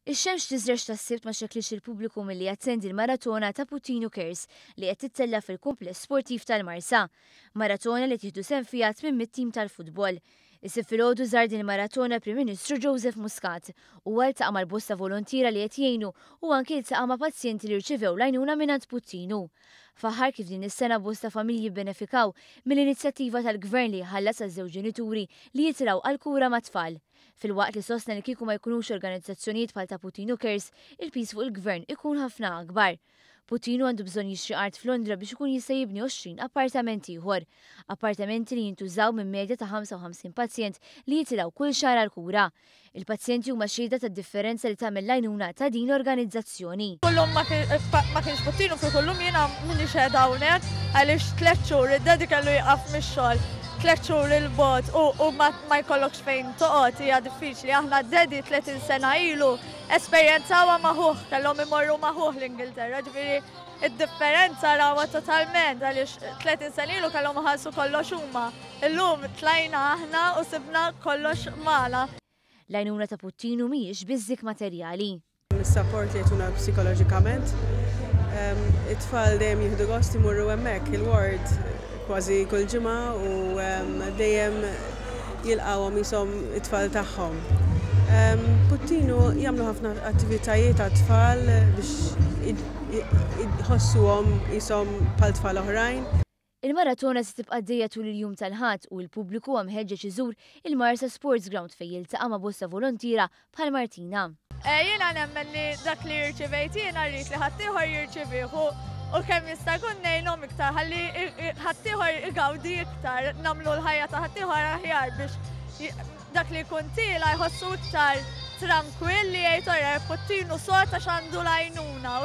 Ix-xemx tiżrex tas-Sibt ma xekklitx il-pubbliku milli jattendi l-maratona ta' Puttinu Cares li qed tittella' fil-Kumpless Sportiv tal-Marsa. Maratona li qed jieħdu sehem fiha 800 tim tal-futbol. Is-Sibt filgħodu żar din il-maratona l-Prim Ministru Joseph Muscat. Huwa ltaqa' mal-bosta voluntiera li qed jgħinu u anki ltaqa' ma' pazjenti li rċivew l-għajnuna mingħand Puttinu. Faħħar kif din is-sena bosta familji bbenefikaw mill-inizjattiva tal-Gvern li jħallas għaż-żewġ ġenituri li jitilgħu għall-kura mat-tfal. Filwaqt li sostna li kieku ma jkunux organizzazzjonijiet bħal ta' Puttinu Cares, il-piż fuq il-Gvern ikun ħafna akbar. Puttinu għandu bżonn jixtri art f'Londra biex ikun jista' jibni 20 appartament ieħor. Appartamenti li jintużaw minn medja ta' 55 pazjent li jitilgħu kull xahar għall-kura. Il-pazjenti huma xhieda tad-differenza li tagħmel l-għajnuna ta' din l-organizzazzjoni. Kullum ma kienx Puttinu kieku llum jiena m'iniex qiegħda hawnhekk għaliex tlett xhur id-daddy kellu jieqaf mix-xogħol tlett xhur 'il bogħod u ma jkollokx fejn toqgħod hija diffiċli. Aħna d-daddy 30 sena ilu esperjenzawha ma' ħuh, kellhom imorru ma' ħuh l-Ingilterra, ġifieri id-differenza rawha totalment għaliex 30 sena ilu kellhom iħallsu kollox huma. Illum tlajna aħna u sibna kollox magħna. L-għajnuna ta' Puttinu mhijiex biss dik materjali. Is-sapport li jagħtuna psikoloġikament. It-tfal dejjem jieħdu gost imorru hemmhekk il-ward kważi kull ġimgħa u dejjem jilqgħuhom qishom it-tfal tagħhom. Puttinu jagħmlu ħafna attivitajiet għat-tfal biex jħossuhom qishom bħal tfal oħrajn. Il-maratona se tibqa' għaddejja tul il-jum tal-Ħadd u l-pubbliku huwa mħeġġeġ iżur il-Marsa Sports Ground fejn jiltaqa' ma' bosta volontiera bħal Martina. Jiena nemmen li dak li rċivejt jiena rrid li ħaddieħor jirċivih u kemm jista' jkun ngħinhom iktar ħalli ħaddieħor igawdi iktar, nagħmlu l-ħajja ta' ħaddieħor aħjar biex dak li jkun tiela' jħossu iktar trankwill li jgħid ora Puttinu sod għax għandu l-għajnuna.